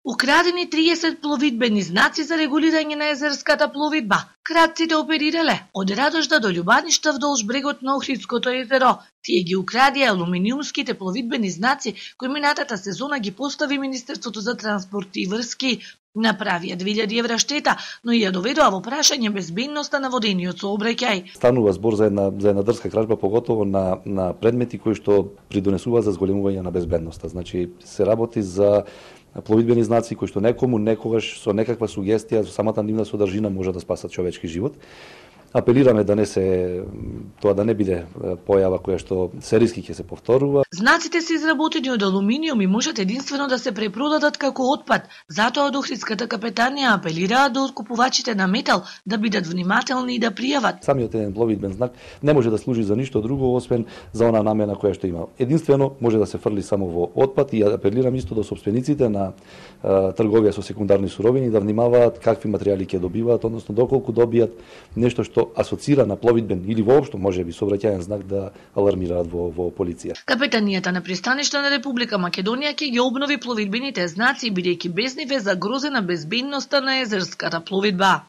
Украдени 30 пловидбени знаци за регулирање на езерската пловидба. Кратците оперирале од Радожда до Љубаништа вдолж брегот на Охридското езеро. Тие ги украдија алуминиумските пловидбени знаци кои минатата сезона ги постави Министерството за транспорт и врски. Направија 2000 евра штета, но и ја доведоа во прашање безбедноста на водениот сообраќај. Станува збор за една дрска кражба, поготово на предмети кои што придонесуваат за зголемување на безбедноста. Значи се работи за пловидбени знаци кои што некому некогаш со некаква сугестија, со самата нивна содржина може да спасат човечки живот. Апелираме да не се тоа да не биде појава која што сериски ќе се повторува. Знаците се изработени од алуминиум и можат единствено да се препродадат како отпад. Затоа од Охридската капетанија апелираат до купувачите на метал да бидат внимателни и да пријават. Самиот еден пловидбен знак не може да служи за ништо друго освен за она намена која што има. Единствено може да се фрли само во отпад и апелирам исто до сопствениците на трговија со секундарни суровини да внимаваат какви материјали ќе добиваат, односно доколку добијат нешто што асоцира на пловидбен или воопшто можеби сообраќајен знак да алармираат во полиција. Капетанијата на пристаништа на Република Македонија ќе ги обнови пловидбените знаци бидејќи без нив е загрозена безбедноста на езерската пловидба.